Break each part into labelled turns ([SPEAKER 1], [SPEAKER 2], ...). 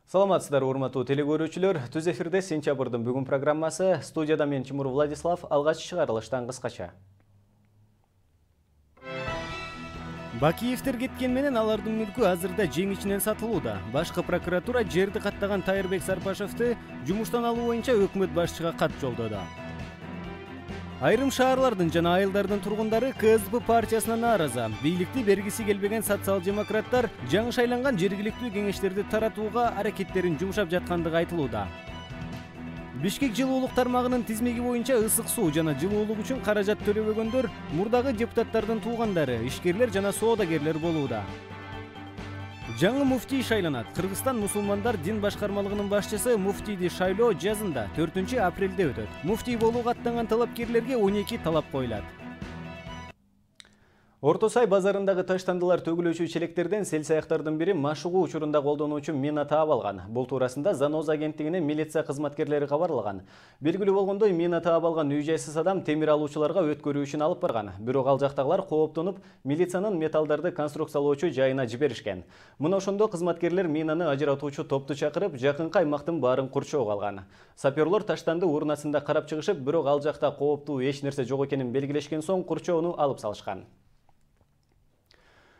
[SPEAKER 1] Саламатсыздар, урматтуу телекөрүүчүлөр. Түз эфирде сентябрдын бүгүн программасы. Студияда мен Тимур Владислав. Алгач чыгарылыштан кыскача. Бакиевтер кеткен менен алардын мүлкү азырда жең ичинен сатылууда. Башкы прокуратура жерди каттаган Тайырбек Сарпашевди жумуштан алуу боюнча өкмөт башчыга кат жолдоду. Айрым шаарлардын жана айылдардын тургундары КСДП партиясына нааразы. Бийликти бергиси келбеген социал-демократтар жаңы шайланган жергиликтүү кеңештерди таратууга аракеттерин жумшап жаткандыгы айтылууда. Бишкек жылуулук тармагынын тизмеги боюнча ысык суу жана жылуулук үчүн каражат төлөбөгөндөр мурдагы депутаттардын туугандары, ишкерлер жана соодагерлер болууда. Жаңы муфтий шайланат. Кыргызстан мусулмандар дин башкармалыгынын башчысы муфтийди шайлоо жазында 4 апрелде өтөт. Муфтий болууга аттанган талапкерлерге 12 талап коюлат. Орто Сай базарындагы таштандылар төгүлүүчү челектерден селсаяктардын бири машыгуу учурунда колдонуучу мина таап алган. Бул туурасында Заноз агенттигине милиция кызматкерлери кабарлаган. Белгилүү болгондой, мина таап алган үй-жайсыз адам темир алуучуларга өткөрүү үчүн алып барган. Бирок ал жактагылар кооптонуп, милициянын металлдарды конструкциялоочу жайына жиберишкен. Мына ошондо кызматкерлер минаны ажыратуучу топту чакырып, жакынкы аймактын баарын курчоого алган. Саперлор таштанды урнасында карап чыгышып, бирок ал жакта кооптуу эч нерсе жок экенин белгилешкен соң курчоону алып салышкан.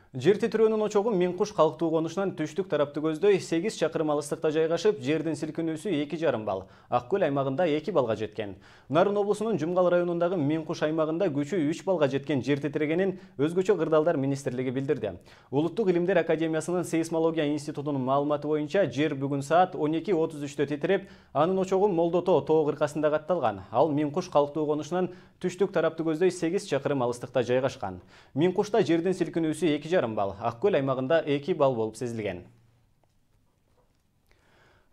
[SPEAKER 1] Жер титирөөнүн очогу Миңкуш калктуу конушунан түштүк тарапты көздөй 8 чакырым алыстыкта жайгашып, жердин силкинүүсү 2,5 балл, Ак Көл аймагында 2 балга жеткен. Нарын облусунун Жумгал районундагы Миңкуш аймагында күчү 3 балга жеткен жер титирегенин өзгөчө кырдаалдар министрлиги билдирди. Улуттук илимдер академиясынын сейсмология институтунун маалыматы боюнча жер бүгүн саат 12:33 титиреп, анын очогу Молдото тоо кыркасында катталган. Ал Миңкуш калктуу конушунан түштүк тарапты көздөй 8 чакырым алыстыкта жайгашкан. Миңкушта жердин силкинүүсү 2,5 балл, Ак Көл аймагында 2 балл болуп сезилген.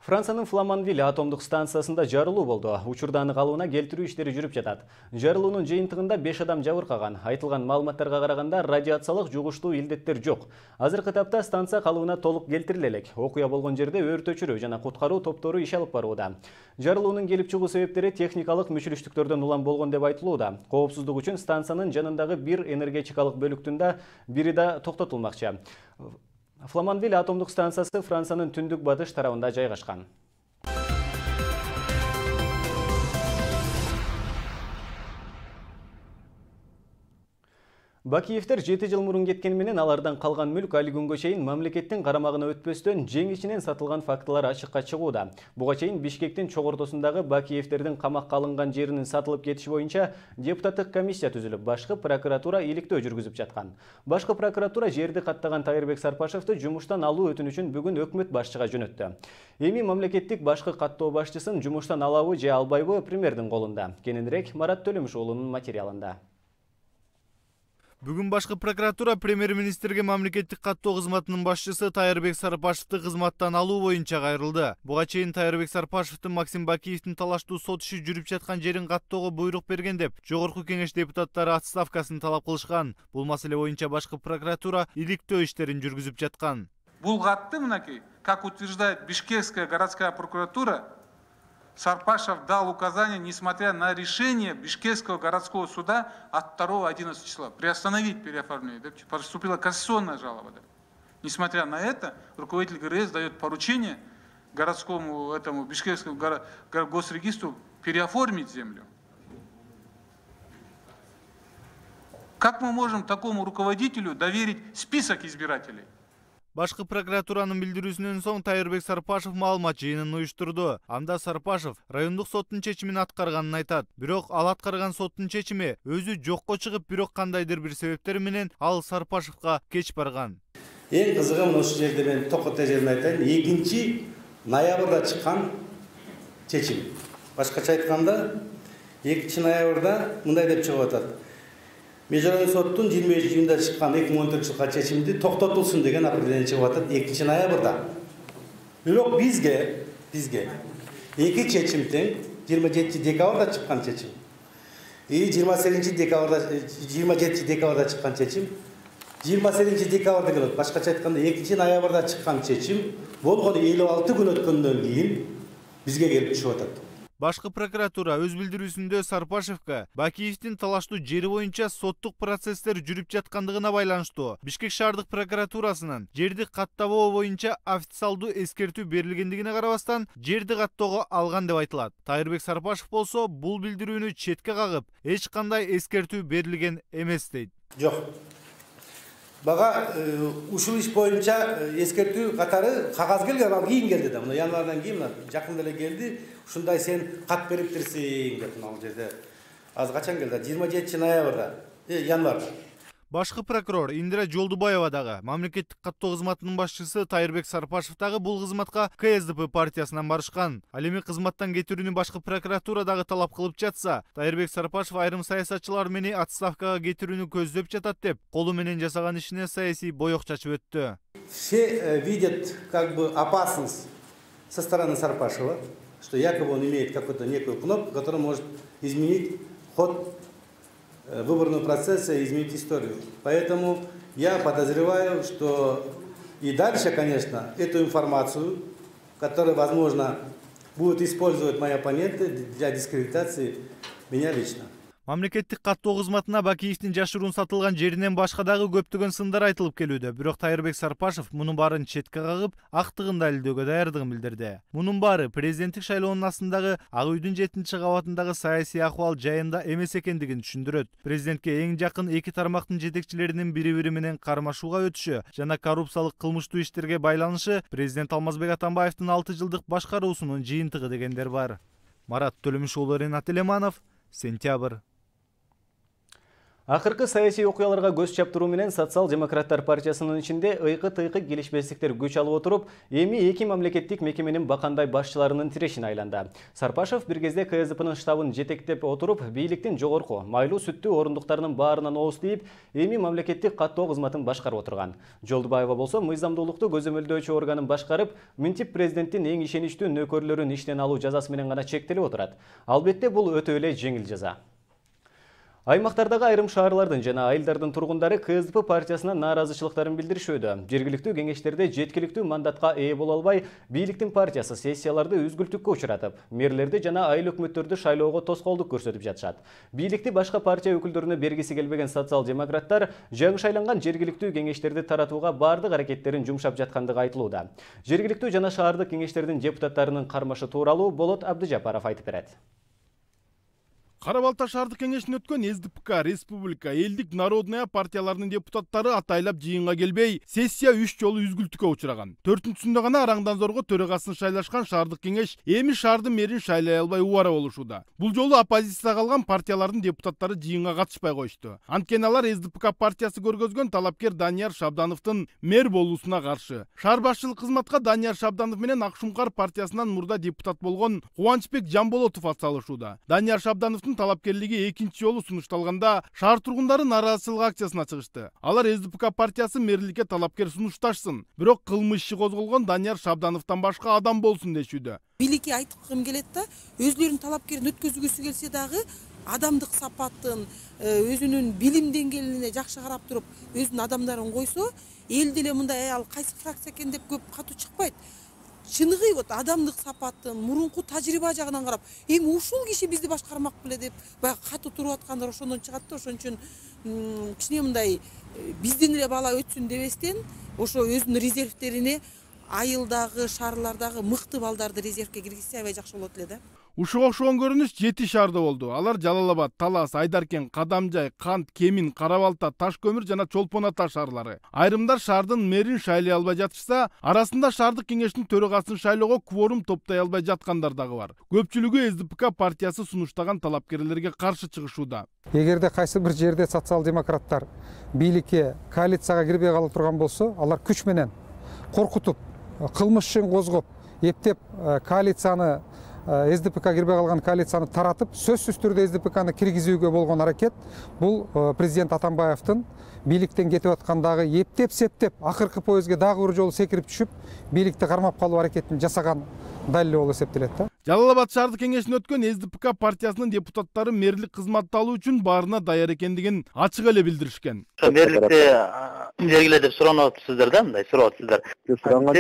[SPEAKER 1] Франциянын Фламанвиль атомдук станциясында жарылуу болду. Учурда аны калыбына келтирүү иштери жүрүп жатат. Жарылуунун жыйынтыгында 5 адам жабыркаган. Айтылган маалыматтарга караганда радиациялык жугуштуу илдеттер жок. Азыркы тапта станция калыбына толук келтириле элек. Окуя болгон жерде өрт өчүрүү жана куткаруу топтору иш алып барууда. Жарылуунун келип чыгуу себептери техникалык мүчүрүштүктөрдөн улам болгон деп айтылууда. Коопсуздук үчүн станциянын жанындагы бир энергетикалык бөлүктүн да бири да токтотулмакчы. Фламанвиль атомдук станциясы Франциянын түндүк батыш тарабында жайгашкан. Бакиевтер 7 жыл мурун кеткен менен алардан калган мүлк али күнгө чейин мамлекеттин карамагына өтпөстөн жең ичинен сатылган фактылар ачыкка чыгууда. Буга чейин Бишкектин чогортосундагы Бакиевтердин камакка алынган жеринин сатылып кетиши боюнча депутаттык комиссия түзүлүп, башкы прокуратура иликтөө жүргүзүп жаткан. Башкы прокуратура жерди каттаган Тайырбек Сарпашевди жумуштан алуу өтүнүчүн бүгүн өкмөт башчыга жөнөттү. Эми мамлекеттик башкы каттоо башчысын жумуштан алабы же албайбы премьердин колунда. Кененирээк Марат Төлөмүш уулунун материалында.
[SPEAKER 2] Бүгүн башкы прокуратура премьер-министрге мамлекеттик каттоо кызматынын башчысы Тайырбек Сарпашевди кызматтан алуу боюнча кайрылды. Буга чейин Тайырбек Сарпашевдин Максим Бакиевдин талаштуу сот иши жүрүп жаткан жерин каттоого буйрук берген деп Жогорку кеңеш депутаттары отставкасын талап кылышкан. Бул маселе боюнча башкы прокуратура иликтөө иштерин жүргүзүп жаткан.
[SPEAKER 3] Бул катты мынакей, как утверждает Бишкекская городская прокуратура, Сарпашев дал указание, несмотря на решение Бишкекского городского суда от 2-11 числа, приостановить переоформление. Поступила кассационная жалоба. Несмотря на это, руководитель ГРС дает поручение городскому Бишкекскому госрегистру переоформить землю. Как мы можем такому руководителю доверить список избирателей?
[SPEAKER 2] Башкы прокуратуранын билдирүүсүнөн соң Тайырбек Сарпашев маалымат жыйынын уюштурду. Анда Сарпашев райондук соттун чечимин аткарганын айтат. Бирок ал аткарган соттун чечими өзү жокко чыгып, бирок кандайдыр бир себептер менен ал Сарпашевга кеч барган.
[SPEAKER 4] Эң кызыгы мына ушул жерде мен токотой жерин айтайын. 2 ноябрда чыккан чечим. Башкача айтканда 2 ноябрда мындай деп чыгып атат. Межрайондук соттун 23-июнда чыккан 2014-жылкы чечимди токтотулсун деген определение чыгып атат 2 ноябрда. Бирок бизге 2 чечим тең 27 декабрда чыккан чечим. 27 декабрда чыккан чечим. 28 декабрда келет. Башкача айтканда 2 ноябрда чыккан чечим болгону 56 күн өткөндөн кийин бизге келип түшүп атат.
[SPEAKER 2] Башкы прокуратура өз билдирүүсүндө Сарпашевго Бакиевдин талаштуу жери боюнча соттук процесстер жүрүп жаткандыгына байланыштуу Бишкек шаардык прокуратурасынын жерди каттабоо боюнча официалдуу эскертүү берилгендигине карабастан жерди каттоого алган деп айтылат. Тайырбек Сарпашев болсо бул билдирүүнү четке кагып, эч кандай эскертүү берилген эмес дейт.
[SPEAKER 4] Жок. Бага ушул иш боюнча эскертүү катары кагаз келген, ал кийин келди да. Мына январдан кийин жакында эле келди. Ушундай сен кат бериптирсиң деп мына жерде. Аз качан келди? 27 ноябрда, январда.
[SPEAKER 2] Башкы прокурор Индира Жолдубаева дагы мамлекеттик каттоо кызматынын башчысы Тайырбек Сарпашев дагы бул кызматка КСДП партиясынан барышкан. Ал эми кызматтан кетирүүнү башкы прокуратура дагы талап кылып жатса, Тайырбек Сарпашев айрым саясатчылар мени отставкага кетирүүнү көздөп жатат деп, колу менен жасаган ишине саясий боек чачып өттү.
[SPEAKER 4] Все видят как бы опасность со стороны Сарпашева, что якобы он имеет какую-то некую кнопку, которая может изменить ход выборного процесса и изменить историю. Поэтому я подозреваю, что и дальше, конечно, эту информацию, которую, возможно, будут использовать мои оппоненты для дискредитации меня лично.
[SPEAKER 2] Мамлекеттик каттоо кызматына Бакиевдин жашыруун сатылган жеринен башка дагы көптөгөн сындар айтылып келүүдө. Бирок Тайырбек Сарпашев мунун баарын четке кагып, актыгын далилдөөгө даярдыгын билдирди. Мунун баары президенттик шайлоонун астындагы Ак үйдүн 7-кабатындагы саясий акыбал жайында эмес экендигин түшүндүрөт. Президентке эң жакын эки тармактын жетекчилеринин бири-бири менен кармашууга өтүшү жана коррупциялык кылмыштуу иштерге байланышы президент Алмазбек Атамбаевдин 6 жылдык башкаруусунун жыйынтыгы дегендер бар. Марат Төлөмүш уулу, Ренат Элеманов, Сентябрь.
[SPEAKER 1] Акыркы саясий окуяларга көз чаптыруу менен Социал-демократтар партиясынын ичинде ыйкы-тыйкы келишпестиктер күч алып отуруп, эми эки мамлекеттик мекеменин бакандай башчыларынын тирешине айланды. Сарпашев бир кезде КСДПнын штабын жетектеп отуруп, бийликтин жогорку майлуу сүттүү орундуктарынын баарынан ооз тийип, эми мамлекеттик каттоо кызматын башкарып отурган. Жолдубаева болсо мыйзамдуулукту көзөмөлдөөчү органын башкарып, мынтип президенттин эң ишеничтүү нөкөрлөрүн иштен алуу жазасы менен гана чектелип отурат. Албетте бул өтө эле жеңил жаза. Аймактардагы айрым шаарлардын жана айылдардын тургундары КСДП партиясына нааразычылыктарын билдиришүүдө. Жергиликтүү кеңештерде жеткиликтүү мандатка ээ боло албай, бийликтин партиясы сессияларды үзгүлтүккө учуратып, мэрлерди жана айыл өкмөттөрдү шайлоого тоскоолдук көрсөтүп жатышат. Бийликти башка партия өкүлдөрүнө бергиси келбеген социал-демократтар жаңы шайланган жергиликтүү кеңештерди таратууга бардык аракеттерин жумшап жаткандыгы айтылууда. Жергиликтүү жана шаардык кеңештердин депутаттарынын кармашы тууралуу Болот Абдыжапаров айтып берет.
[SPEAKER 5] Кара Балта шаардык кеңешинен өткөн СДПК, Республика, Элдик, Народная партияларынын депутаттары атайлап жыйынга келбей, сессия 3 жолу үзгүлтүккө учураган. 4-сүндө гана араңдан зорго төрагасын шайлашкан шаардык кеңеш эми шаардын мэрин шайлай албай убара болушууда. Бул жолу оппозицияга калган партиялардын депутаттары жыйынга катышпай коюшту. Анткени алар СДПК партиясы көргөзгөн талапкер Данияр Шабдановдун мэр болуусуна каршы. Шаар башчылык кызматка Данияр Шабданов менен Ак Шумкар партиясынан мурда депутат болгон Кубанычбек Жамболотов атсалышууда. Данияр Шабдановдун талапкерлиги экинчи жолу сунушталганда шаар тургундары нааразычылык акциясына чыгышты. Алар СДПК партиясы мэрликке талапкер сунушташсын, бирок кылмыш иши козголгон Данияр Шабдановдон башка адам болсун дешүүдө.
[SPEAKER 6] Бийликке айткым келет да, өзлөрүнүн талапкерин өткөзгүсү келсе дагы адамдык сапатын, өзүнүн билим деңгээлине жакшы карап туруп, өзүнүн адамдарын койсо, эл деле мындай ал кайсы фракция экен деп көп катуу чыкпайт. Чыныгы вот адамдык сапатын, мурунку тажрыйба жагынан карап, эми ушул киши бизди башкармак беле деп баягы катуу туруп аткандар ошондон чыгат да. Ошон үчүн кичине мындай биздин эле бала өтсүн дебестен, ошо өзүнүн резервтерине айылдагы, шаарлардагы мыкты балдарды резервке киргизсе аябай жакшы болот эле да.
[SPEAKER 5] Ушуга окшогон көрүнүш 7 шаарда болду. Алар Жалал Абад, Талас, Айдаркен, Кадамжай, Кант, Кемин, Кара Балта, Таш көмүр жана Чолпон Ата шаарлары. Айрымдар шаардын мэрин шайлай албай жатышса, арасында шаардык кеңештин төрагасын шайлоого кворум топтой албай жаткандар дагы бар. Көпчүлүгү СДПК партиясы сунуштаган талапкерлерге каршы чыгышууда.
[SPEAKER 7] Эгерде кайсы бир жерде социал-демократтар бийликке коалицияга кирбей кала турган болсо, алар күч менен коркутуп, кылмыш ишин козгоп, эптеп коалицияны СДПК кирбей калган коалицияны таратып, сөзсүз түрдө СДПКны киргизүүгө болгон аракет бул президент Атамбаевдин бийликтен кетип аткандагы эптеп-септеп акыркы поездге дагы бир жолу секирип түшүп, бийликти кармап калуу аракетин жасаган далили болуп эсептелет да.
[SPEAKER 5] Жалал Абад шаардык кеңешинен өткөн СДПК партиясынын депутаттары мэрлик кызматты алуу үчүн баарына даяр экендигин ачык эле билдиришкен.
[SPEAKER 8] Мэрликти бергиле деп сурап атсыздар да, мындай сурап атсыздар.
[SPEAKER 9] Суранга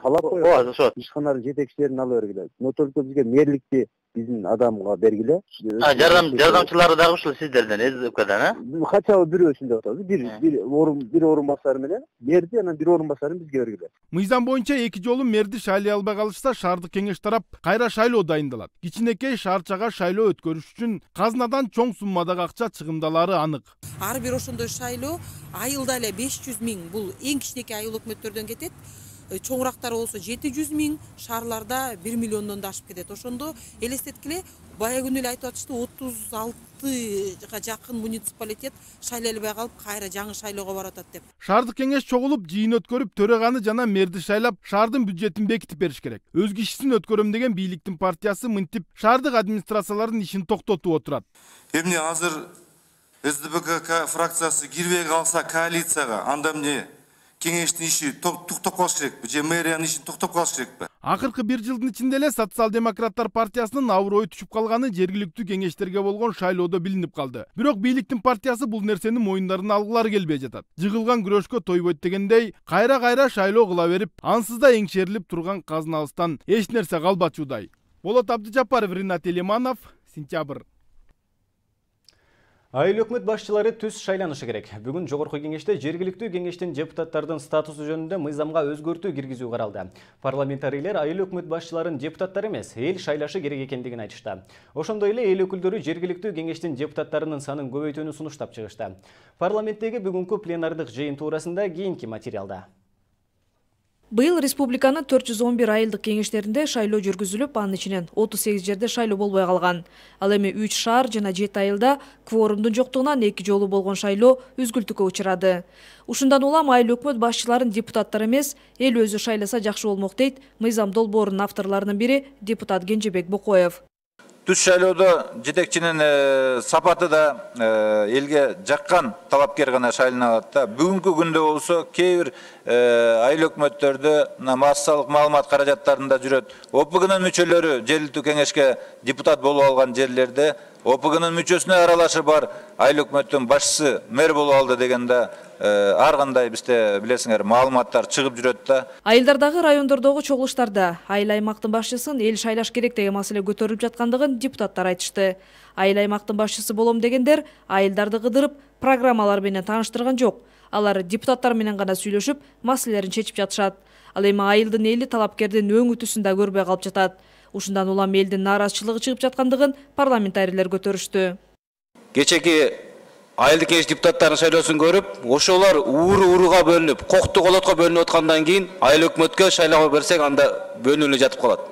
[SPEAKER 9] талап коюп, ишкананын жетекчилерин ала бергиле. Только бизге мэрликти биздин адамга бергиле.
[SPEAKER 8] Жардамчылары дагы ушул сиздерден, СДПКдан,
[SPEAKER 9] Хотя бы бирөө ошондой атабыз. Бир орун басары менен мэрди, анан бир орун басарын бизге бергиле.
[SPEAKER 5] Мыйзам боюнча 2 жолу мэрди шайлай албай калышса, шаардык кеңеш тарап кайра шайлоо дайындалат. Кичинекей шаарчага шайлоо өткөрүш үчүн казынадан чоң суммадагы акча чыгымдалары анык.
[SPEAKER 6] Ар бир ошондой шайлоо айылда эле 500 000, бул эң кичинекей айыл өкмөттөрдөн кетет. Чоңурактары болсо 700 000, шаарларда 1 миллиондон да ашып кетет. Ошондо элестеткиле, бая күнү эле айтып атышты, 36 жакын муниципалитет шайлай албай калып, кайра жаңы шайлоого барып атат деп.
[SPEAKER 5] Шаардык кеңеш чогулуп, жыйын өткөрүп, төрөганы жана мэрди шайлап, шаардын бюджетин бекитип бериш керек. Өз кишисин өткөрөм деген бийликтин партиясы мынтип шаардык администрациялардын ишин токтотуп отурат.
[SPEAKER 10] Эмне азыр СДПК фракциясы кирбей калса коалицияга, анда эмне кеңештин иши токтоп калыш керекпи же мэриянын ишин токтоп калыш керекпи?
[SPEAKER 5] Акыркы 1 жылдын ичинде эле социал-демократтар партиясынын аброю түшүп калганы жергиликтүү кеңештерге болгон шайлоодо билинип калды. Бирок бийликтин партиясы бул нерсени мойундарына алгылары келбей жатат. Жыгылган күрөшкө тойбойт дегендей, кайра шайлоо кыла берип, ансыз да эңшерилип турган казынабыздан эч нерсе калбачудай. Болот Абдыжапаров, Ринат Элиманов, Сентябрь.
[SPEAKER 1] Айыл өкмөт башчылары түз шайланышы керек. Бүгүн жогорку кеңеште жергиликтүү кеңештин депутаттардын статусу жөнүндө мыйзамга өзгөртүү киргизүү каралды. Парламентарийлер айыл өкмөт башчыларын депутаттар эмес, эл шайлашы керек экендигин айтышты. Ошондой эле эл өкүлдөрү жергиликтүү кеңештин депутаттарынын санын көбөйтүүнү сунуштап чыгышты. Парламенттеги бүгүнкү пленардык жыйын туурасында кийинки материалда.
[SPEAKER 11] Быйыл республиканын 411 айылдык кеңештеринде шайлоо жүргүзүлүп, анын ичинен 38 жерде шайлоо болбой калган. Ал эми 3 шаар жана 7 айылда кворумдун жоктугунан 2 жолу болгон шайлоо үзгүлтүккө учурады. Ушундан улам айыл өкмөт башчыларын депутаттар эмес, эл өзү шайласа жакшы болмок дейт мыйзам долбоорунун авторлорунун бири депутат Кенжебек Бокоев.
[SPEAKER 12] Түз шайлоодо жетекчинин сапаты да элге жаккан талапкер гана шайланалат да. Бүгүнкү күндө болсо кээ бир айыл өкмөттөрдө массалык маалымат каражаттарында жүрөт. ОПГнын мүчөлөрү жергиликтүү кеңешке депутат болуп алган жерлерде ОПГнын мүчөсүнө аралашы бар айыл өкмөттүн башчысы мэр болуп алды дегенде ар кандай бизде билесиңер маалыматтар чыгып жүрөт да.
[SPEAKER 11] Айылдардагы райондордогу чогулуштарда айыл аймактын башчысын эл шайлаш керек деген маселе көтөрүлүп жаткандыгын депутаттар айтышты. Айыл аймактын башчысы болом дегендер айылдарды кыдырып, программалар менен тааныштырган жок. Алар депутаттар менен гана сүйлөшүп, маселелерин чечип жатышат. Ал эми айылдын эли талапкердин өң үтүсүн да көрбөй калып жатат. Ушундан улам элдин нааразычылыгы чыгып жаткандыгын парламентарийлер көтөрүштү.
[SPEAKER 13] Кечеки айылдык кеңеш депутаттарынын шайлоосун көрүп, ошолор ууруга бөлүнүп, кокту колотко бөлүнүп аткандан кийин айыл өкмөткө шайлоо берсек, анда бөлүнүп жатып калат.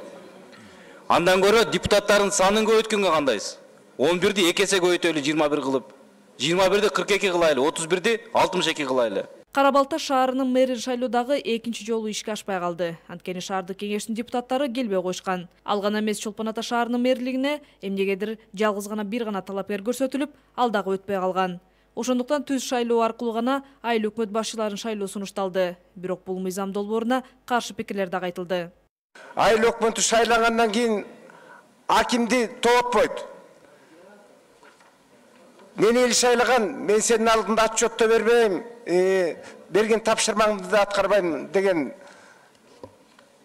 [SPEAKER 13] Андан көрө депутаттардын санын көбөйткөнгө кандайсыз? 11-ди 2 эсе көбөйтөлү 21 кылып, 21-ди 42 кылайлы, 31-ди 62 кылайлы.
[SPEAKER 11] Кара Балта шаарынын мэрин шайлоодагы экинчи жолу ишке ашпай калды. Анткени шаардык кеңештин депутаттары келбей койшкан. Ал гана эмес, Чолпон Ата шаарынын мэрлигине эмнегедир жалгыз гана бир гана талапкер көрсөтүлүп, ал дагы өтпөй калган. Ошондуктан түз шайлоо аркылуу гана айыл өкмөт башчыларын шайлоо сунушталды. Бирок бул мыйзам долбооруна каршы пикирлер дагы айтылды.
[SPEAKER 14] Айыл өкмөтү шайлангандан кийин акимди тоотпойт. Мени эл шайлаган, мен сенин алдында отчетто бербейм, берген тапшырмаңды да аткарбайм деген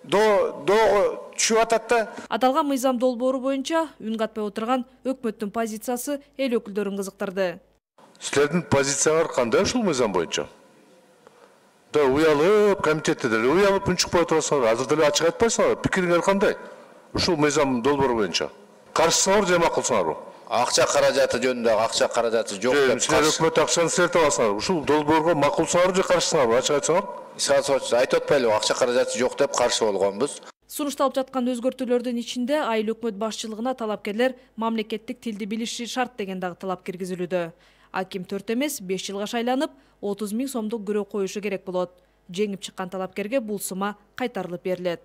[SPEAKER 14] доого түшүп атат да.
[SPEAKER 11] Аталган мыйзам долбоору боюнча үн катпай отурган өкмөттүн позициясы эл өкүлдөрүн кызыктырды.
[SPEAKER 15] Силердин позициялар кандай ушул мыйзам боюнча? Да уялып, комитетте деле уялып үнчүкпөй отурасыңар, азыр деле ачык айтпайсыңар, пикириңер кандай? Ушул мыйзам долбоору боюнча. Каршысыңарбы же макулсуңарбы?
[SPEAKER 13] Акча каражаты жөнүндө акча каражаты жок деп.
[SPEAKER 15] Силер өкмөт акчаны силер табасыңар. Ушул долбоорго макулсыңарбы же каршысыңарбы? Ачык айтсаңар.
[SPEAKER 13] Айтып атпайлыбы, акча каражаты жок деп каршы болгонбуз.
[SPEAKER 11] Сунушталып жаткан өзгөртүүлөрдүн ичинде айыл өкмөт башчылыгына талапкерлер мамлекеттик тилди билиши шарт деген дагы талап киргизилүүдө. Аким 4 эмес 5 жылга шайланып, 30 000 сомдук күрөө коюшу керек болот. Жеңип чыккан талапкерге бул сума кайтарылып берилет.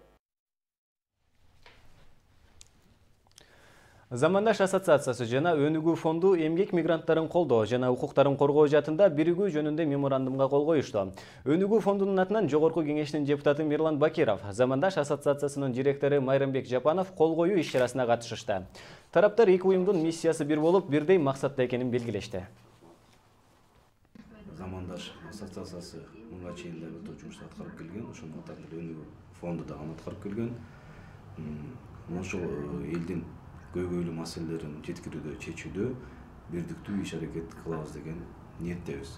[SPEAKER 1] Замандаш ассоциациясы жана Өнүгүү фонду эмгек мигранттарын колдоо жана укуктарын коргоо жаатында биригүү жөнүндө меморандумга кол коюшту. Өнүгүү фондунун атынан жогорку кеңештин депутаты Мирлан Бакиров, Замандаш ассоциациясынын директору Майрамбек Жапанов кол коюу иш-чарасына катышышты. Тараптар эки уюмдун миссиясы бир болуп, бирдей максатта экенин белгилешти.
[SPEAKER 4] Замандаш ассоциациясы мынга чейин да өтө жумуш аткарып келген, ошонун катарында Өнүгүү фонду да аны аткарып келген. Ошол элдин
[SPEAKER 16] көйгөйлүү маселелерин жеткирүүдө, чечүүдө бирдиктүү иш-аракет кылабыз деген ниеттебиз.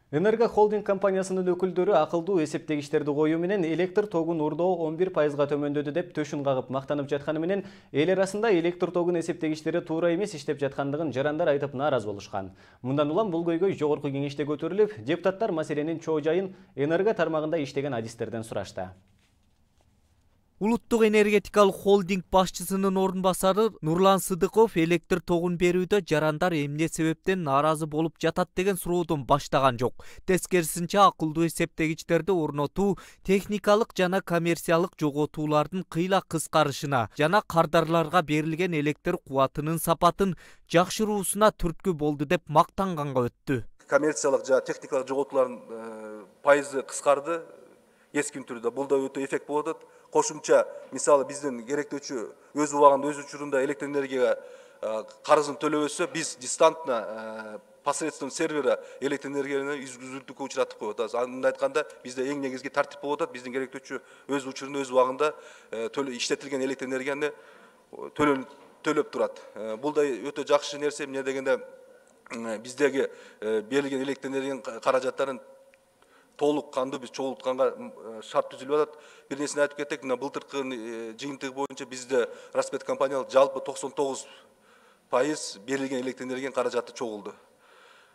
[SPEAKER 1] Энерго холдинг компаниясынын өкүлдөрү акылдуу эсептегичтерди коюу менен электр тогун урдоо 11%га төмөндөдү деп төшүн кагып мактанып жатканы менен эл арасында электр тогун эсептегичтери туура эмес иштеп жаткандыгын жарандар айтып нааразы болушкан. Мындан улам бул көйгөй жогорку кеңеште көтөрүлүп, депутаттар маселенин чоо жайын энерго тармагында иштеген адистерден сурашты.
[SPEAKER 17] Улуттук энергетикалык холдинг башчысынын орун басары Нурлан Сыдыков электр тогун берүүдө жарандар эмне себептен нааразы болуп жатат деген суроодон баштаган жок. Тескерисинче акылдуу эсептегичтерди орнотуу техникалык жана коммерциялык жоготуулардын кыйла кыскарышына жана кардарларга берилген электр кубатынын сапатын жакшыруусуна түрткү болду деп мактанганга өттү.
[SPEAKER 18] Коммерциялык жана техникалык жоготуулардын пайызы кыскарды эским түрдө. Бул да өтө эффект болуп атат. Кошумча, мисалы биздин керектөөчү өз убагында өз учурунда электр энергияга карызын төлөбөсө, биз дистантно посредством сервера электр энергияны үзгүлтүүгө учуратып коюп атабыз. Аны айтканда, бизде эң негизги тартип болуп атат. Биздин керектөөчү өз учурунда өз убагында иштетилген электр энергияны төлөп турат. Бул да өтө жакшы нерсе. Эмне дегенде биздеги берилген электр энергиянын каражаттарын толук канды биз чогултканга шарт түзүлүп атат. Бир нерсени айтып кетек, мына былтыркы жыйынтыгы боюнча бизде Распет компаниялык жалпы 99% берилген электр энергиянын каражаты чогулду.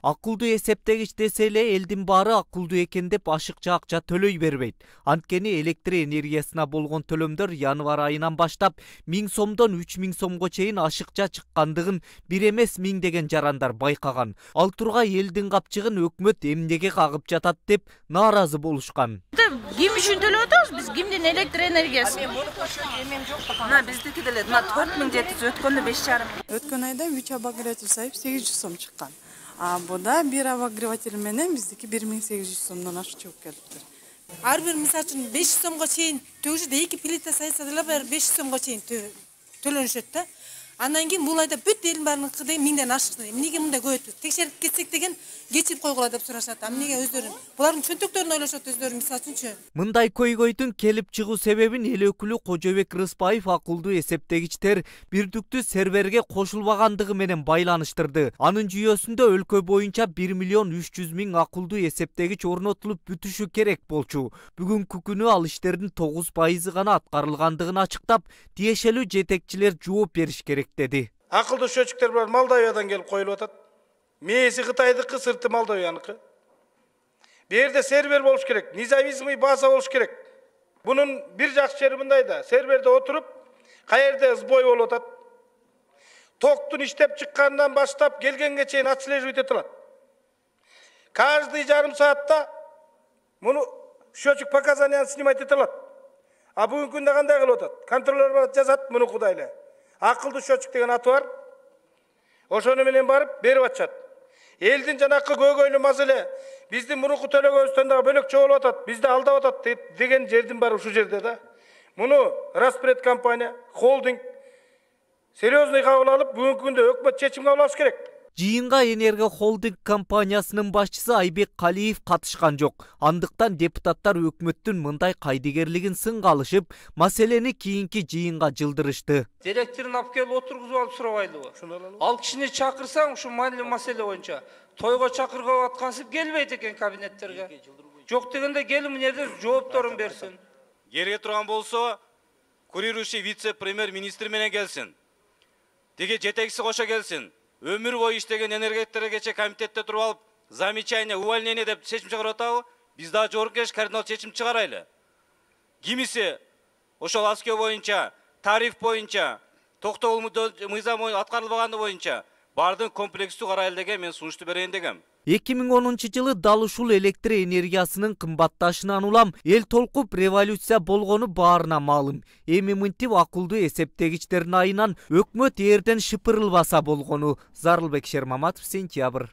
[SPEAKER 17] Акылдуу эсептегич десе эле элдин баары акылдуу экен деп ашыкча акча төлөй бербейт. Анткени электр энергиясына болгон төлөмдөр январь айынан баштап 1000 сомдон 3000 сомго чейин ашыкча чыккандыгын бир эмес миңдеген жарандар байкаган. Ал тургай элдин капчыгын өкмөт эмнеге кагып жатат деп нааразы болушкан.
[SPEAKER 19] Ким үчүн төлөп атабыз? Биз кимдин электр энергиясы? Мына биздики деле 4700 өткөндө 5,5.
[SPEAKER 20] Өткөн айда 3 обогреватель сайып 800 сом чыккан. Буда бир обогреватель менен биздики 1800 сомдон ашык чыгып келиптир.
[SPEAKER 6] Ар бир мисалы үчүн 500 сомго чейин төгүшөт, 2 плита сайса деле 500 сомго чейин төлөнүшөт да. Андан кийин бул айда бүт элдин баарыныкы деген 1000ден ашыкты. Эмнеге мындай көбөйт? Текшерип кетсек деген кечирип койгула деп сурашат. Эмнеге өздөрү? Булардын чөнтөктөрүн ойлошот өздөрү мисалы үчүнчү.
[SPEAKER 17] Мындай көйгөйдүн келип чыгуу себебин эл өкүлү Кожобек Рыспаев акылдуу эсептегичтер бирдиктүү серверге кошулбагандыгы менен байланыштырды. Анын жүйөсүндө өлкө боюнча 1 миллион 300 миң акылдуу эсептегич орнотулуп бүтүшү керек болчу. Бүгүнкү күнү ал иштердин 9% гана аткарылгандыгын ачыктап, тиешелүү жетекчилер жооп бериш керек dedi.
[SPEAKER 21] Акылдуу счетчиктер бар Молдовиядан келип коюлуп атат. Мээси Кытайдыкы, сырты Молдовияныкы. Бу жерде сервер болуш керек, независимый база болуш керек. Бунун бир жакшы жери мындай да, серверде отуруп, каерде сбой болуп атат. Токтун иштеп чыккандан баштап келгенге чейин отслеживать этилат. Каждый жарым саатта муну счетчик показанияны снимать этилат. А бүгүнкү күндө кандай кылып атат? Контролер барат жазат, муну кудайлы. Акылдуу счетчик деген аты бар. Ошону менен барып берип атышат. Элдин жанакы көйгөйлүү маселе биздин мурунку төлөгөбүздөн дагы бөлөкчө болуп атат. Бизди алдап атат деген жердин баары ушул жерде да. Муну Распред компания, холдинг серьезный кабыл алып, бүгүнкү күндө өкмөт чечим кабыл алыш керек.
[SPEAKER 17] Жыйынга Энерго холдинг компаниясынын башчысы Айбек Калиев катышкан жок. Андыктан депутаттар өкмөттүн мындай кайдыгерлигин сынга алышып, маселени кийинки жыйынга жылдырышты.
[SPEAKER 22] Директорун алып келип отургузуп алып сурабайлыбы? Ал кишини чакырсаң, ушу маселе боюнча тойго чакыргып аткансып келбейт экен кабинеттерге. Жок дегенде келип мына жерде жоопторун берсин.
[SPEAKER 23] Кереги турган болсо, курирующий вице-премьер-министр менен келсин. Тиги жетекчиси кошо келсин. Өмүр бою иштеген энергетиктерге кече комитетте туруп алып, замечание, увольнение деп чечим чыгарып атабы? Биз дагы жогорку кеңеш кардинал чечим чыгарайлы. Кимиси ошол аскө боюнча, тариф боюнча, токтогул мыйзам аткарылбаганы боюнча бардын комплекстүү карайлы деген мен сунушту берейин дегем.
[SPEAKER 17] 2010 жылы дал ушул электр энергиясынын кымбатташынан улам эл толкуп революция болгону баарына маалым. Эми мынтип акылдуу эсептегичтердин айынан өкмөт эрден шыпырылбаса болгону. Зарылбек Шермаматов, Сентябрь.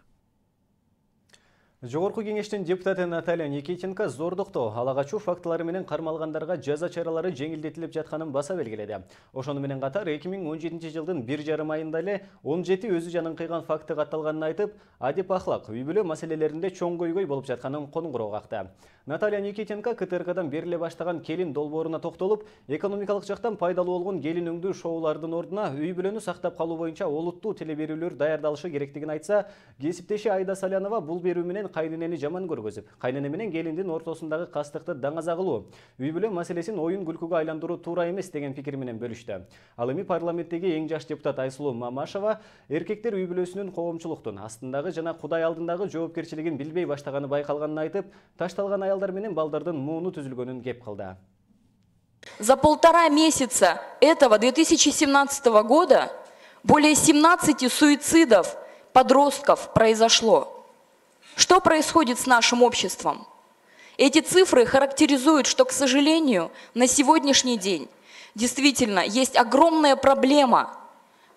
[SPEAKER 1] Жогорку кеңештин депутаты Наталья Никитенко зордуктоо, ала качуу фактылары менен кармалгандарга жаза чаралары жеңилдетилип жатканын баса белгиледи. Ошону менен катар 2017 жылдын 1,5 айында эле 17 өзү жанын кыйган факты катталганын айтып, адеп ахлак, үй бүлө маселелеринде чоң көйгөй болуп жатканын коңгуроо какты. Наталья Никитенко КТРКдан бериле баштаган келин долбооруна токтолуп, экономикалык жактан пайдалуу болгон келин өңдүү шоулардын ордуна үй бүлөнү сактап калуу боюнча олуттуу телеберүүлөр даярдалышы керектигин айтса, кесиптеши Айда Салянова бул берүү менен кайненени жаман көргөзүп, кайнене менен келиндин ортосундагы кастыкты даңаза кылуу, үй бүлө маселесин оюн күлкүгө айландыруу туура эмес деген пикир менен бөлүштү. Ал эми парламенттеги эң жаш депутат Айсулуу Мамашева эркектер үй бүлөсүнүн коомчулуктун астындагы жана Кудай алдындагы жоопкерчилигин билбей баштаганы байкалганын айтып, ташталган аялдар менен балдардын мууну түзүлгөнүн кеп кылды.
[SPEAKER 2] За 1,5 месяца этого 2017 года более 17 суицидов подростков произошло. Что происходит с нашим обществом? Эти цифры характеризуют, что, к сожалению, на сегодняшний день действительно есть огромная проблема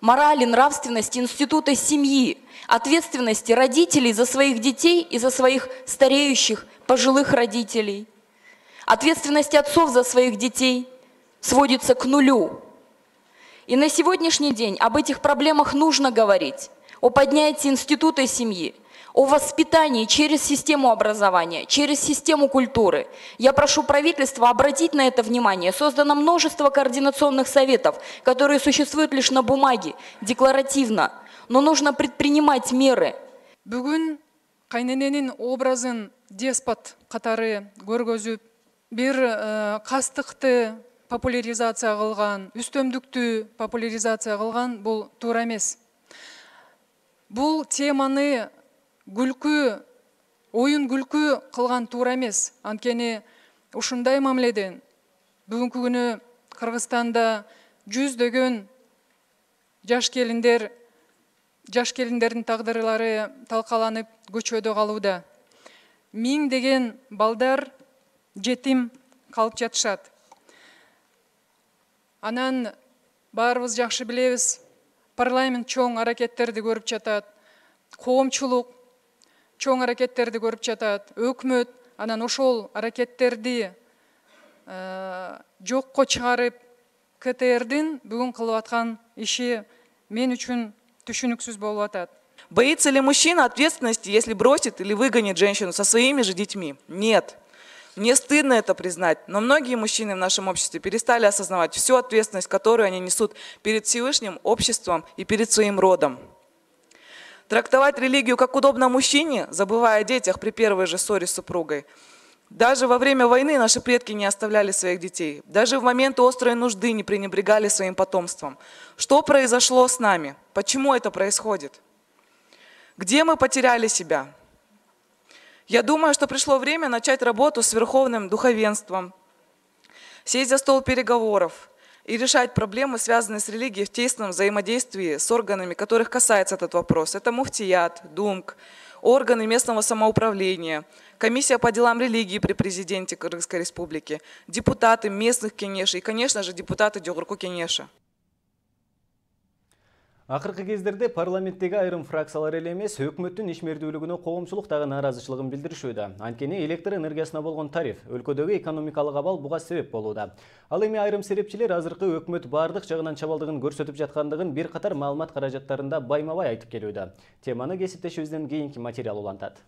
[SPEAKER 2] морали, нравственности, института семьи, ответственности родителей за своих детей и за своих стареющих, пожилых родителей. Ответственность отцов за своих детей сводится к нулю. И на сегодняшний день об этих проблемах нужно говорить, о поднятии института семьи, о воспитании через систему образования, через систему культуры. Я прошу правительства обратить на это внимание. Создано множество координационных советов, которые существуют лишь на бумаге, декларативно, но нужно предпринимать меры.
[SPEAKER 3] Бүгүн кайнененин образын деспот катары көргөзүп, бир кастыкты популяризация кылган, үстөмдүктү популяризация кылган бул туура эмес. Бул теманы күлкү, оюн күлкү кылган туура эмес. Анткени ушундай мамиледен бүгүнкү күнү Кыргызстанда жүздөгөн жаш келиндердин тагдырлары талкаланып көчөдө калууда. Миңдеген балдар жетим калып жатышат. Анан баарыбыз жакшы билебиз, парламент чоң аракеттерди көрүп жатат, коомчулук чоң аракеттерди көрүп жатат, өкмөт анан ошол аракеттерди жокко чыгарып, КТРдин бүгүн кылып аткан иши мен үчүн түшүнүксүз болуп атат.
[SPEAKER 7] Боится ли мужчина ответственности, если бросит или выгонит женщину со своими же детьми? Нет. Мне стыдно это признать, но многие мужчины в нашем обществе перестали осознавать всю ответственность, которую они несут перед Всевышним, обществом и перед своим родом. Трактовать религию как удобно мужчине, забывая о детях при первой же ссоре с супругой. Даже во время войны наши предки не оставляли своих детей. Даже в моменты острой нужды не пренебрегали своим потомством. Что произошло с нами? Почему это происходит? Где мы потеряли себя? Я думаю, что пришло время начать работу с верховным духовенством, сесть за стол переговоров и решать проблемы, связанные с религией в тесном взаимодействии с органами, которых касается этот вопрос. Это муфтият, ДУМК, органы местного самоуправления, комиссия по делам религии при президенте Кыргызской республики, депутаты местных кеңешей и, конечно же, депутаты Жогорку кеңеша.
[SPEAKER 1] Акыркы кездерде парламенттеги айрым фракциялар эле эмес, өкмөттүн ишмердүүлүгүнө коомчулук дагы нааразычылыгын билдиришүүдө. Анткени электр энергиясына болгон тариф, өлкөдөгү экономикалык абал буга себеп болууда. Ал эми айрым серепчилер азыркы өкмөт бардык жагынан чабалдыгын көрсөтүп жаткандыгын бир катар маалымат каражаттарында байма-бай айтып келүүдө. Теманы кесиптешибизден кийинки материал улантат.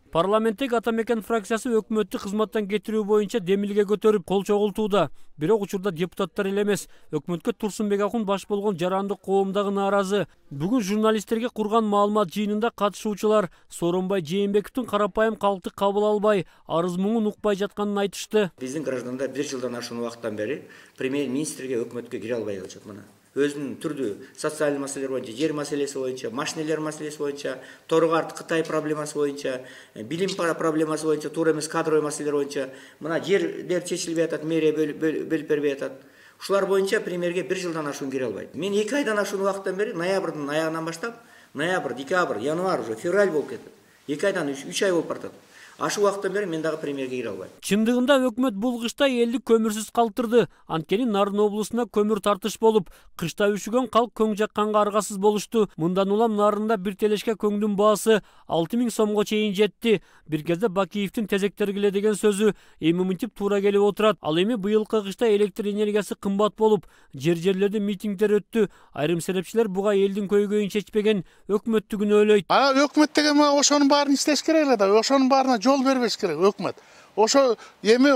[SPEAKER 24] Парламенттеги Ата Мекен фракциясы өкмөттү кызматтан кетирүү боюнча демилге көтөрүп кол чогултууда. Бирок учурда депутаттар эле эмес, өкмөткө Турсунбек Акун баш болгон жарандык коом дагы нааразы. Бүгүн журналисттерге курган маалымат жыйынында катышуучулар Сооронбай Жээнбековдун карапайым калкты кабыл албай, арыз муңун укпай жатканын айтышты.
[SPEAKER 25] Биздин граждандар бир жылдан ашуун убакыттан бери премьер-министрге өкмөткө кире албай калышат мына. Өзүнүн түрдүү социалдык маселелер боюнча, жер маселеси боюнча, машинелер маселеси боюнча, Торгар Кытай проблемасы боюнча, билим проблемасы боюнча, туура эмес кадровый маселелер боюнча, мына жерлер чечилбей атат, мэрия бөлүп бербей атат. Ушулар боюнча премьерге бир жылдан ашуун кире албайт. Мен 2 айдан ашуун убакыттан бери ноябрдын аягынан баштап, ноябрь, декабрь, январь уже февраль болуп кетет. 2 айдан 3 ай болуп баратат. Ашу убакыттан бери мен дагы премьерге кире албайм.
[SPEAKER 24] Чындыгында өкмөт бул кышта элди көмүрсүз калтырды. Анткени Нарын облусуна көмүр тартыш болуп, кышта үшүгөн калк көң жакканга аргасыз болушту. Мындан улам Нарында бир телешке көңдүн баасы 6000 сомго чейин жетти. Бир кезде Бакиевдин тезектергиле деген сөзү эми мынтип туура келип отурат. Ал эми быйылкы кышта электр энергиясы кымбат болуп, жерлерде митингдер өттү. Айрым серепчилер буга элдин көйгөйүн чечпеген өкмөттү күнөөлөйт.
[SPEAKER 5] Өкмөт деген ошонун баарын иштеш керек эле да, ошонун баарына жол бербеш керек өкмөт. Ошо эми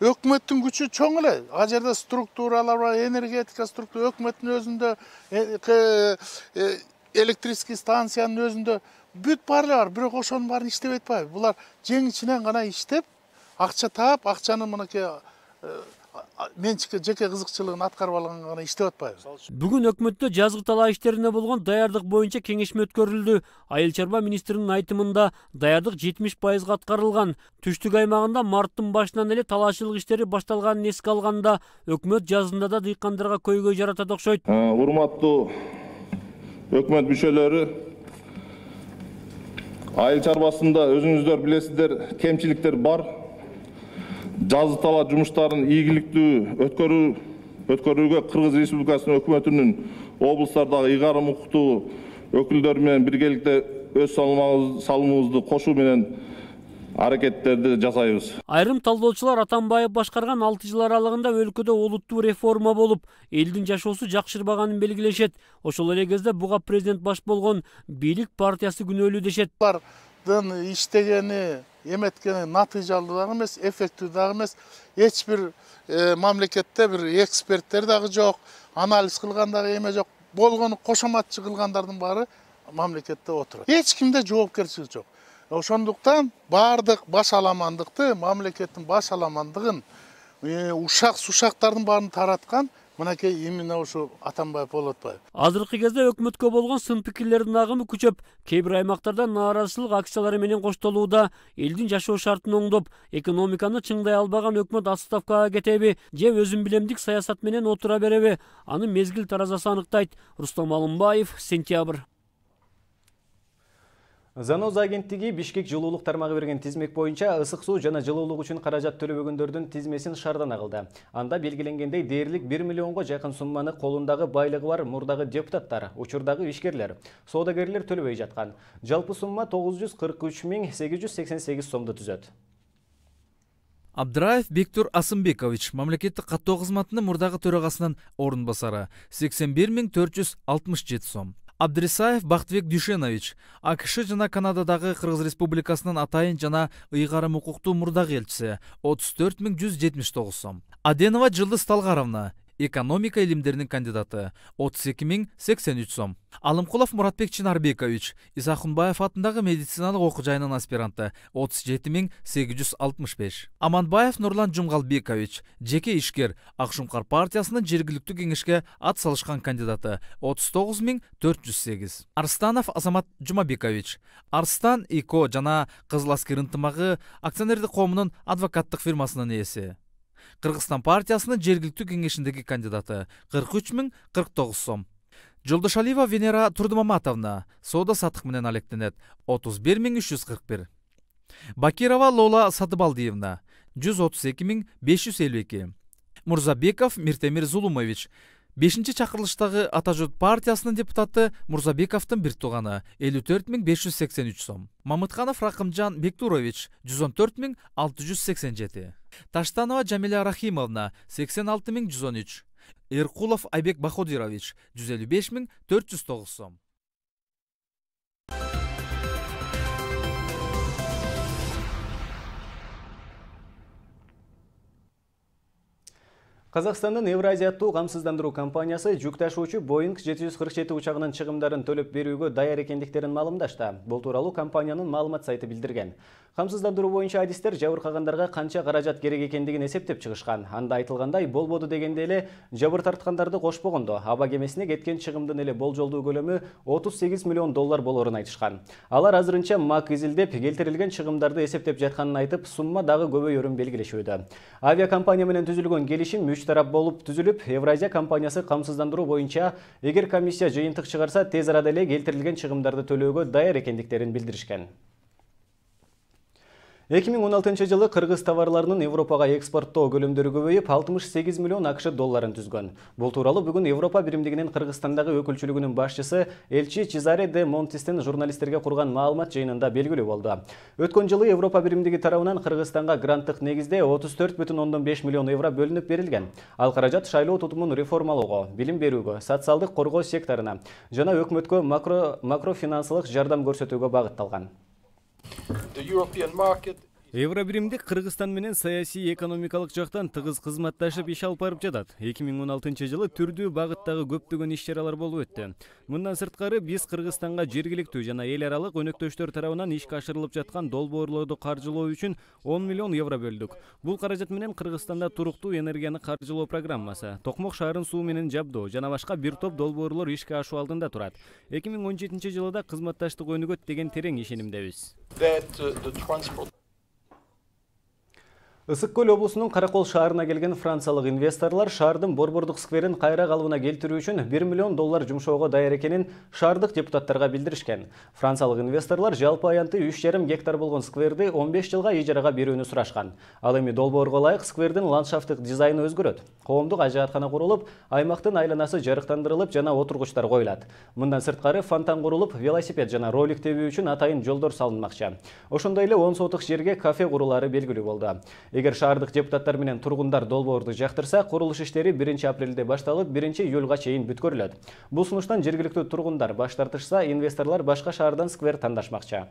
[SPEAKER 5] өкмөттүн күчү чоң эле. А жерде структуралар бар, энергетика структура, өкмөттүн өзүндө, электрический станциянын өзүндө бүт баары бар, бирок ошонун баарын иштебей атпайбы. Булар жең ичинен гана иштеп, акча таап, акчаны мынакей менчикке жеке кызыкчылыгын аткарып алганга гана иштеп атпайбы.
[SPEAKER 24] Бүгүн өкмөттө жазгы талаа иштерине болгон даярдык боюнча кеңешме өткөрүлдү. Айыл чарба министринин айтымында даярдык 70% аткарылган. Түштүк аймагында марттын башынан эле талаачылык иштери башталганын эске алганда, өкмөт жазында да дыйкандарга көйгөй жаратат окшойт.
[SPEAKER 8] Урматтуу өкмөт мүчөлөрү, айыл чарбасында өзүңүздөр билесиздер, кемчиликтер бар. Жазы талаа жумуштарын ийгиликтүү өткөрүүгө Кыргыз Республикасынын өкмөтүнүн облустардагы ыйгарым укуктуу өкүлдөрү менен биргеликте өз салымыбызды кошуу менен аракеттерди жасайбыз.
[SPEAKER 24] Айрым талдоочулар Атамбаев башкарган 6 жыл аралыгында өлкөдө олуттуу реформа болуп, элдин жашоосу жакшырбаганын белгилешет. Ошол эле кезде буга президент баш болгон бийлик партиясы күнөөлүү дешет.
[SPEAKER 5] Булардын иштегени, эметкени натыйжалуу дагы эмес, эффектүү дагы эмес. Эч бир мамлекетте бир эксперттер дагы жок, анализ кылган дагы эме жок. Болгону кошоматчы кылгандардын баары мамлекетте отурат. Эч кимде жоопкерчилик жок. Ошондуктан баардык баш аламандыкты, мамлекеттин баш аламандыгын, ушак-сушактардын баарын тараткан мынакей именно ушу Атамбаев болуп атпайбы.
[SPEAKER 24] Азыркы кезде өкмөткө болгон сын пикирлердин агымы күчөп, кээ бир аймактарда нааразычылык акциялары менен коштолууда. Элдин жашоо шартын оңдоп, экономиканы чыңдай албаган өкмөт отставкага кетеби же өзүн билемдик саясат менен отура береби? Аны мезгил таразасы аныктайт. Рустам Алымбаев, Сентябрь.
[SPEAKER 1] Заноз агенттиги Бишкек жылуулук тармагы берген тизмек боюнча ысык суу жана жылуулук үчүн каражат төлөбөгөндөрдүн тизмесин шаардан кылды. Анда белгиленгендей дээрлик 1 миллионго жакын сумманы колундагы байлыгы бар мурдагы депутаттар, учурдагы ишкерлер, соодагерлер төлөбөй жаткан. Жалпы сумма 943.888 сомду түзөт.
[SPEAKER 9] Абдраев Бектур Асымбекович, мамлекеттик каттоо кызматынын мурдагы төрагасынын орун басары, 81.467 сом. Абдрисаев Бактыбек Дүйшенович, АКШ жана Канададагы Кыргыз Республикасынын атайын жана ыйгарым укуктуу мурдагы элчиси, 34.179 сом. Аденова Жылдыз Талгаровна, экономика илимдеринин кандидаты, 32.083 сом. Алымкулов Муратбек Чынарбекович, Исахунбаев атындагы медициналык окуу жайынын аспиранты, 37.865. Аманбаев Нурлан Жумгалбекович, жеке ишкер, Акшумкар партиясынын жергиликтүү кеңешке ат салышкан кандидаты, 39.408. Арстанов Азамат Жумабекович, Арстан ИКО жана Кызыл Аскер ынтымагы акционердик коомунун адвокаттык фирмасынын ээси. Кыргызстан партиясынын жергиликтүү кеңешиндеги кандидаты, 43.049 сом. Жолдошалиева Венера Турдумаматовна, соода саттык менен алектенет, 31.341. Бакирова Лола Сатыбалдиевна, 132.552. Мурзабеков Миртемир Зулумович, 5-чакырылыштагы Ата журт партиясынын депутаты Мурзабековдун бир тууганы, 54.583 сом. Мамытканов Ракымжан Бектурович, 114.687. Таштанова Жамиля Рахимовна, 86.113. Эркулов Айбек Баходирович, 155.409 сом.
[SPEAKER 1] Казакстандын Евразия аттуу камсыздандыруу компаниясы жүк ташуучу Boeing 747 учагынын чыгымдарын төлөп берүүгө даяр экендиктерин маалымдашты. Бул тууралуу компаниянын маалымат сайты билдирген. Камсыздандыруу боюнча адистер жабыркагандарга канча каражат керек экендигин эсептеп чыгышкан. Анда айтылгандай, болбоду дегенде эле жабыр тарткандарды кошпогондо аба кемесине кеткен чыгымдын эле болжолдуу көлөмү $38 миллион болорун айтышкан. Алар азырынча мак изилдеп, келтирилген чыгымдарды эсептеп жатканын айтып, сумма дагы көбөйөрүн белгилешүүдө. Авиакомпания менен түзүлгөн келишим үч тарап болуп түзүлүп, Евразия компаниясы камсыздандыруу боюнча эгер комиссия жыйынтык чыгарса, тез арада эле келтирилген чыгымдарды төлөөгө даяр экендиктерин билдиришкен. 2016 жылы кыргыз товарларынын Европага экспорттоо көлөмдөрү көбөйүп 68 миллион АКШ долларын түзгөн. Бул тууралуу бүгүн Европа биримдигинин Кыргызстандагы өкүлчүлүгүнүн башчысы Элчи Чезаре де Монтистин журналисттерге курган маалымат жыйынында белгилүү болду. Өткөн жылы Европа биримдиги тарабынан Кыргызстанга гранттык негизде 34,5 миллион евро бөлүнүп берилген. Ал каражат шайлоо тутумун реформалоого, билим берүүгө, социалдык коргоо секторуна жана өкмөткө макрофинансылык жардам көрсөтүүгө багытталган. Евробиримдик Кыргызстан менен саясий экономикалык жактан тыгыз кызматташып иш алып барып жатат. 2016 жылы түрдүү багыттагы көптөгөн иш-чаралар болуп өттү. Мындан сырткары биз Кыргызстанга жергиликтүү жана эл аралык өнөктөштөр тарабынан ишке ашырылып жаткан долбоорлорду каржылоо үчүн 10 миллион евро бөлдүк. Бул каражат менен Кыргызстанда туруктуу энергияны каржылоо программасы, Токмок шаарын суу менен жабдоо жана башка бир топ долбоорлор ишке ашуу алдында турат. 2017 жылы да кызматташтык өнүгөт деген терең ишенимдебиз. Ысык көл облусунун Каракол шаарына келген франциялык инвесторлор шаардын борбордук скверин кайра калыбына келтирүү үчүн 1 миллион доллар жумшоого даяр экенин шаардык депутаттарга билдиришкен. Франциялык инвесторлор жалпы аянты 3,5 гектар болгон скверди 15 жылга ижарага берүүнү сурашкан. Ал эми долбоорго ылайык сквердин ландшафттык дизайны өзгөрөт. Коомдук ажыаткана курулуп, аймактын айланасы жарыктандырылып жана отургучтар коюлат. Мындан сырткары фонтан курулуп, велосипед жана ролик тебүү үчүн атайын жолдор салынмакчы. Ошондой эле 10 сотук жерге кафе курулары белгилүү болду. Эгер шаардык депутаттар менен тургундар долбоорду жактырса, курулуш иштери 1-апрелде башталып, 1-июлга чейин бүткөрүлөт. Бул сунуштан жергиликтүү тургундар баш тартышса, инвесторлор башка шаардан сквер тандашмакчы.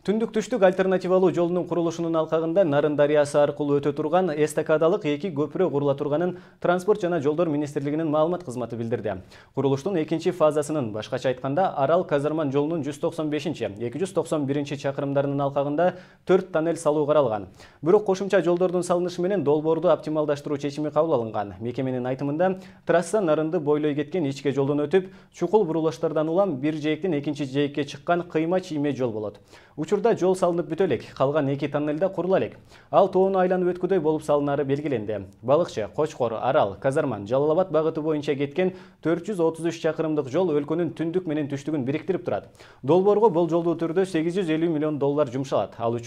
[SPEAKER 1] Түндүк-түштүк альтернативалуу жолунун курулушунун алкагында Нарын дарыясы аркылуу өтө турган эстакадалык 2 көпүрө курула турганын Транспорт жана жолдор министрлигинин маалымат кызматы билдирди. Курулуштун 2-чи фазасынын, башкача айтканда, Арал-Казарман жолунун 195-291 чакырымдарынын алкагында 4 тоннель салуу каралган. Бирок кошумча жолдордун салынышы менен долбоорду оптималдаштыруу чечими кабыл алынган. Мекеменин айтымында, трасса Нарынды бойлой кеткен ичке жолдон өтүп, чукул бурулуштардан улам бир жээктен экинчи жээкке чыккан кыйма чийме жол болот. Учурда жол салынып бүтө элек, калган 2 тоннельда курула элек. Ал тоону айланып өткүдөй болуп салынары белгиленди. Балыкчы, Кочкор, Арал, Казарман, Жалал-Абад багыты боюнча кеткен 433 чакырымдык жол өлкөнүн түндүк менен түштүгүн бириктирип турат. Долбоорго болжолдуу түрдө 850 миллион доллар жумшалат. Ал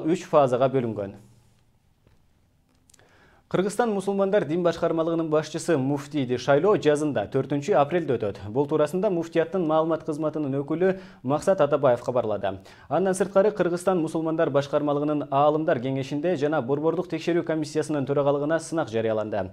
[SPEAKER 1] 3 фазага бөлүнгөн. Кыргызстан мусулмандар дин башкармалыгынын башчысы Муфтийди шайлоо жазында 4-апрелде өтөт. Бул туурасында муфтияттын маалымат кызматынын өкүлү Максат Атабаев кабарлады. Андан сырткары Кыргызстан мусулмандар башкармалыгынын аалымдар кеңешинде жана борбордук текшерүү комиссиясынын төрагалыгына сынак жарыяланды.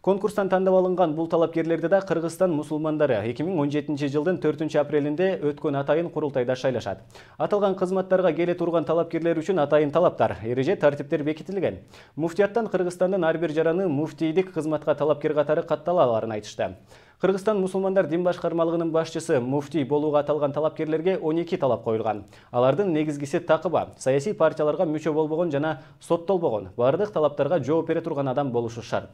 [SPEAKER 1] Конкурстан тандап алынган бул талапкерлерди да Кыргызстан мусулмандары 2017 жылдын 4-апрелинде өткөн атайын курултайда шайлашат. Аталган кызматтарга келе турган талапкерлер үчүн атайын талаптар, эреже тартиптер бекитилген. Муфтияттан Кыргызстандын ар бир жараны муфтийдик кызматка талапкер катары каттала аларын айтышты. Кыргызстан мусулмандар дин башкармалыгынын башчысы муфтий болууга аталган талапкерлерге 12 талап коюлган. Алардын негизгиси такыба, саясий партияларга мүчө болбогон жана соттолбогон, бардык талаптарга жооп бере турган адам болушу шарт.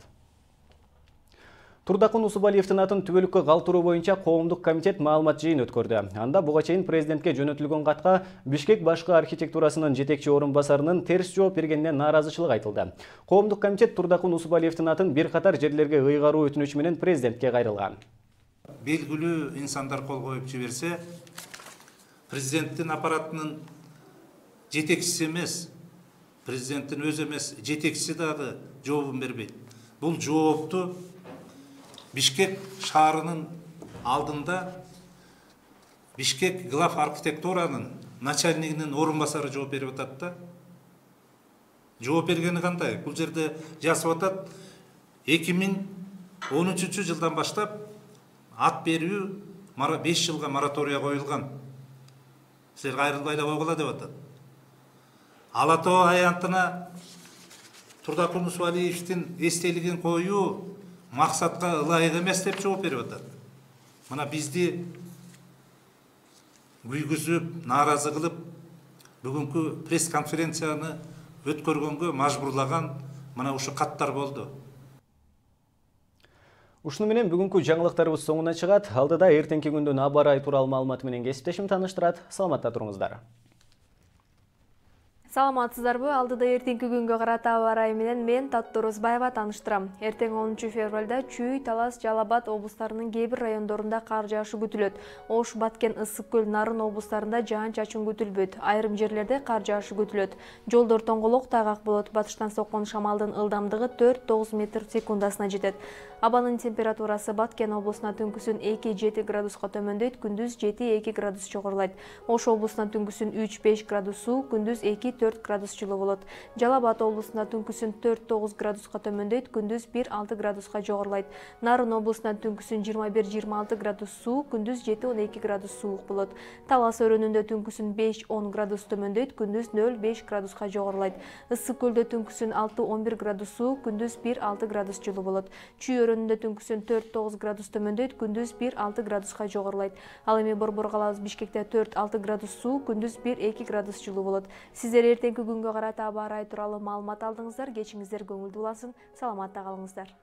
[SPEAKER 1] Турдакун Усубалиевдин атын түбөлүккө калтыруу боюнча коомдук комитет маалымат жыйын өткөрдү. Анда буга чейин президентке жөнөтүлгөн катка Бишкек башкы архитектурасынын жетекчи орун басарынын терс жооп бергенине нааразычылык айтылды. Коомдук комитет Турдакун Усубалиевдин атын бир катар жерлерге ыйгаруу өтүнүчү менен президентке кайрылган.
[SPEAKER 10] Белгилүү инсандар кол коюп жиберсе, президенттин аппаратынын жетекчиси эмес, президенттин өзү эмес, жетекчиси дагы жообун бербейт. Бул жоопту Бишкек шаарынын алдында Бишкек глав архитектуранын начальнигинин орун басары жооп берип атат да. Жооп бергени кандай? Бул жерде жазып атат 2013 жылдан баштап ат берүү 5 жылга моратория коюлган. Силер кайрылбай да койгула деп атат. Ала Тоо аянтына Турдакун Усубалиевдин эстелигин коюу максатка ылайык эмес деп жооп берип атат. Мына бизди күйгүзүп, нааразы кылып, бүгүнкү пресс-конференцияны өткөргөнгө мажбурлаган мына ушу каттар болду.
[SPEAKER 1] Ушуну менен бүгүнкү жаңылыктарыбыз соңуна чыгат. Алдыда эртеңки күндүн аба ырайы тууралуу маалыматы менен кесиптешим тааныштырат. Саламатта туруңуздар.
[SPEAKER 11] Саламатсыздарбы? Алдыда эртеңки күнгө карата аба ырайы менен мен Таттуу Орозбаева тааныштырам. Эртең 10 февралда Чүй, Талас, Жалал Абад облустарынын кээ бир райондорунда кар жаашы күтүлөт. Ош, Баткен, Ысык көл, Нарын облустарында жаан-чачын күтүлбөйт. Айрым жерлерде кар жаашы күтүлөт. Жолдор тоңголок, тайгак болот. Батыштан соккон шамалдын ылдамдыгы 4-9 метр секундасына жетет. Абанын температурасы Баткен облусуна түнкүсүн 2-7 градуска төмөндөйт, күндүз 7-2 градус жогорулайт. Ош облусуна түнкүсүн 3-5 градус суу, күндүз 2-4 градус жылуу болот. Жалал Абад облусунда түнкүсүн 4-9 градуска төмөндөйт, күндүз 1-6 градуска жогорулайт. Нарын облусунда түнкүсүн 21-26 градус суу, күндүз 7-12 градус суук болот. Талас өрөөнүндө түнкүсүн 5-10 градус төмөндөйт, күндүз 0-5 градуска жогорулайт. Ысык көлдө түнкүсүн 6-11 градус суу, күндүз 1-6 градус жылуу болот. Чүй өрөөнүндө түнкүсүн 4-9 градус төмөндөйт, күндүз 1-6 градуска жогорулайт. Ал эми Борбор калабыз Бишкекте 4-6 градус суу, күндүз 1-2 градус жылуу болот. Сиздер эртеңки күнгө карата аба ырайы тууралуу маалымат алдыңыздар. Кечиңиздер көңүлдүү улансын. Саламатта калыңыздар.